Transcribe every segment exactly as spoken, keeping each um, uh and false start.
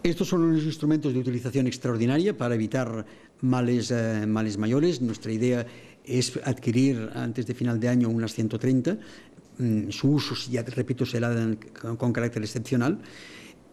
Estos son unos instrumentos de utilización extraordinaria para evitar males, eh, males mayores. Nuestra idea es adquirir antes de final de año unas ciento treinta. Mm, su uso, ya repito, será de, con, con carácter excepcional.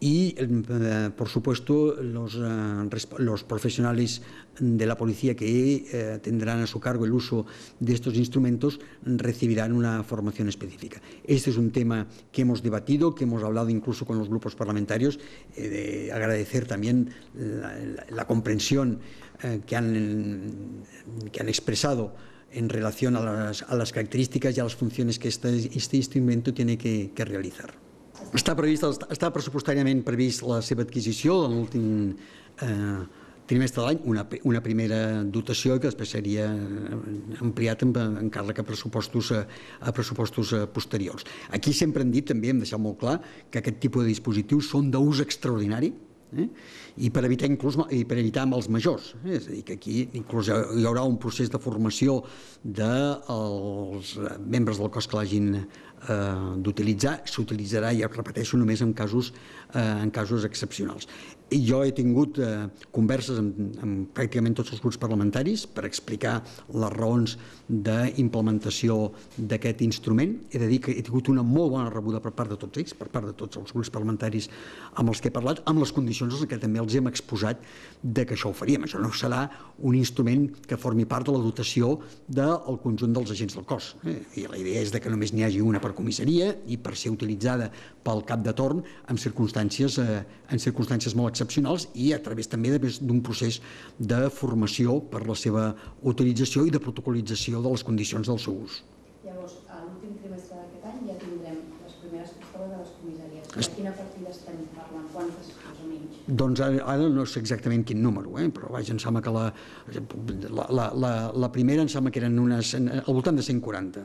Y, eh, por supuesto, los, eh, los profesionales de la policía que eh, tendrán a su cargo el uso de estos instrumentos recibirán una formación específica. Este es un tema que hemos debatido, que hemos hablado incluso con los grupos parlamentarios, eh, de agradecer también la, la, la comprensión eh, que, han, que han expresado en relación a las, a las características y a las funciones que este, este instrumento tiene que, que realizar. Està, previst, està pressupostàriament previst la seva adquisició en l'últim eh, trimestre de l'any, una, una primera dotació que després seria ampliat amb encàrrec a pressupostos, a pressupostos posteriors. Aquí sempre hem dit, també hem deixat molt clar, que aquest tipus de dispositius són d'ús extraordinari, Eh? I per evitar inclús i per evitar amb els majors, eh? És a dir, que aquí inclús hi haurà un procés de formació dels membres del cos que l'hagin eh, d'utilitzar. S'utilitzarà, ja repeteixo, només en casos, eh, en casos excepcionals. I jo he tingut eh, converses amb, amb pràcticament tots els grups parlamentaris per explicar les raons d'implementació d'aquest instrument. He de dir que he tingut una molt bona rebuda per part de tots ells, per part de tots els grups parlamentaris amb els que he parlat, amb les condicions en què també els hem exposat de que això ho faríem. Això no serà un instrument que formi part de la dotació del conjunt dels agents del cos. Eh? I la idea és de que només n'hi hagi una per comissaria i per ser utilitzada pel cap de torn en circumstàncies, eh, en circumstàncies molt excepcionals i a través també d'un procés de formació per la seva utilització i de protocolització de les condicions del seu ús. Llavors, a l'últim trimestre d'aquest any ja tindrem les primeres pistoles a les comissaries. De quina partida estem parlant? Quantes, més o menys? Doncs ara, ara no sé exactament quin número, eh? Però vaja, em sembla que la, la, la, la primera em sembla que eren unes, al voltant de cent quaranta.